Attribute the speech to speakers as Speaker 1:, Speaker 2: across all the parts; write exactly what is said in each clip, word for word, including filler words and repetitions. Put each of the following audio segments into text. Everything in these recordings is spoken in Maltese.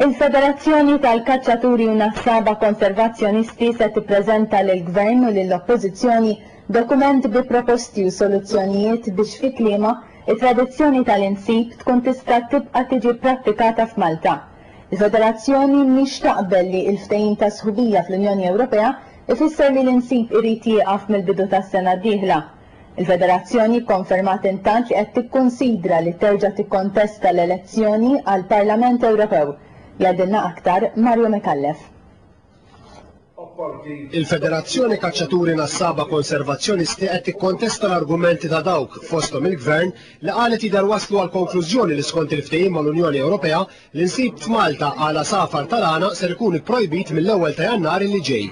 Speaker 1: Il-Federazzjoni tal-Kaċċaturi u Nassaba Konservazzjonisti se tippreżenta lill-Gvern u lill-Oppożizzjoni dokument bi proposti u soluzzjonijiet biex fi kliemha it-tradizzjoni tal-insib tkun tista' tibqa' tiġi prattikata f'Malta. Il-Federazzjoni mhix taqbel li l-ftehim ta' sħubija fl-Unjoni Ewropea ifisser li l-insib irid jieqaf mill-bidu tas-sena d-dieħla. Il-Federazzjoni konfermat intant li qed tikkunsidra li terġa' tikkontesta l-elezzjoni għall-Parlament Ewropew. Jgħidilna aktar Mario Micallef.
Speaker 2: Il-Federazzjoni Kaċċaturi Nassaba Konservazzjonisti qed tikkontesta l-argumenti ta' dawk fosthom il-Gvern li qalet jidher waslu għal konklużjoni li skont il-ftehim mal-Unjoni Ewropea l-insib f'Malta għal għasafar tal-għana ser ikun ipprojbit mill-ewwel ta' Jannar li ġej.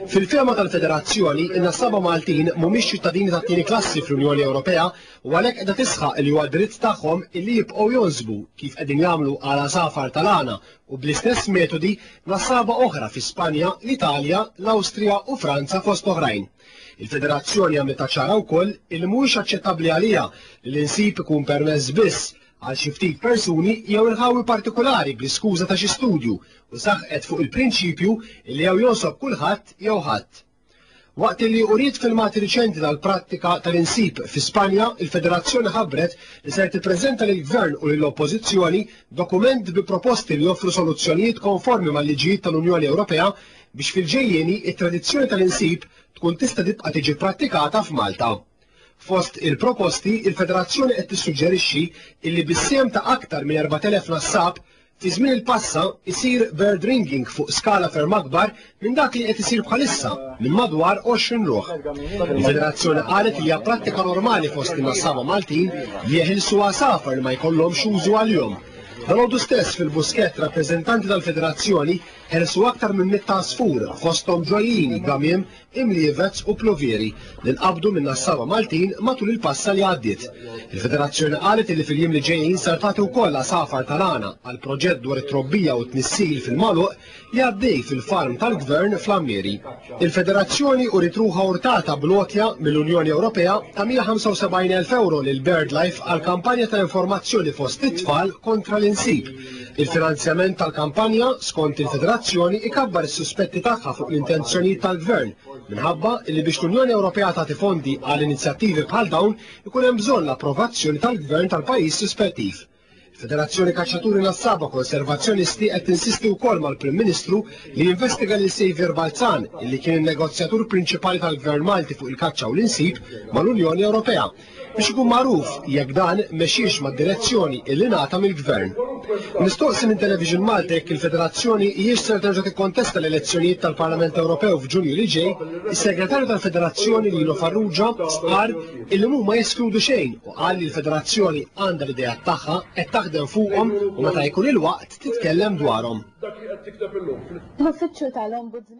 Speaker 2: Fil-fehma tal-Federazzjoni, in-nassaba Maltin mhumiex ċittadini tat-tieni klassi fl-Unjoni Ewropea u għalhekk qiegħda tisħaq li huwa dritt tagħhom illi jibqgħu jonsbu kif qegħdin jagħmlu għal għasafar tal-għana u bl-istess metodi nassaba oħra fi Spanja, l-Italja, l-Awstrija u Franza fost oħrajn. Il-Federazzjoni għamlet ċara wkoll illi mhuwiex aċċettabbli għaliha li l-insib ikun permess biss għal xi ftit persuni jew inħawi partikolari bl-iskuża ta' xi studju u saħqet fuq il-prinċipju li jew jonsob kulħadd jew ħadd. Waqt li uriet filmati riċenti tal-prattika tal-insib fi Spanja, il-Federazzjoni ħabbret li ser tippreżenta lill-Gvern u lill-Oppożizzjoni dokument bi proposti li joffru soluzzjonijiet konformi mal-liġijiet tal-Unjoni Ewropea biex fil-ġejjieni it-tradizzjoni tal-insib tkun tista' tibqa' tiġi prattikata f'Malta. Fost il-proposti, il-Federazzjoni qed tissuġġerixxi illi bis-sehem ta' aktar minn erbat elef nassab fi żmien il-passa isir bird ringing fuq skala ferm akbar minn dak li qed isir bħalissa minn madwar għoxrin ruħ. Il-Federazzjoni qalet li hija prattika normali fost in-nassaba Maltin li jeħilsu għasafar li ma jkollhomx użu għalihom. Dalgħodu stess fil-Buskett rappreżentanti tal-Federazzjoni ħelsu aktar minn mitt għasfur fosthom ġojjini, gamiem, imlievez u plovieri li nqabdu minn nassaba Maltin matul il-passa li għaddiet. Il-Federazzjoni qalet li fil-jiem li ġejjin sar tagħti wkoll għasafar tal-għana għal proġett dwar it-trobbija u t-tnissil fil-magħluq li għaddej fil-farm tal-Gvern fl-Għammieri. Il-Federazzjoni uriet ruħha urtata bl-għotja mill-Unjoni Ewropea ta' mija ħamsa u sebgħin elf euro lil BirdLife għal kampanja ta' informazzjoni fost it-tfal kontra l-insib. Il-finanzjament tal-kampanja, skont il-Federazzjoni, ikabbar is-suspetti tagħha fuq l-intenzjonijiet tal-Gvern, minħabba li biex l-Unjoni Ewropea tagħti fondi għal inizjattivi bħal dawn ikun hemm bżonn l-approvazzjoni tal-Gvern tal-pajjiż rispettiv. Il-Federazzjoni Kaċċaturi Nassaba Konservazzjonisti qed tinsisti wkoll mal-Prim Ministru li jinvestiga lil Saviour Balzan, illi kien in-negozjatur prinċipali tal-Gvern Malti fuq il-kaċċa u l-insib mal-Unjoni Ewropea, biex ikun magħruf jekk dan mexiex mad-direzzjoni illi ngħata mill-Gvern. Mistoqsi minn Television Malta jekk il-Federazzjoni hijiex ser terġa' tikkontesta l-elezzjonijiet tal-Parlament Ewropew f'Ġunju li ġej, is-Segretarju tal-Federazzjoni Lino Farrugia stqarr illi mhuma jeskludu xejn u qal li l-Federazzjoni għandha l-idea tagħha qed taħdem fuqhom u meta jkun il-waqt titkellem dwarhom.
Speaker 1: L-Uffiċċju tal-Ombudsman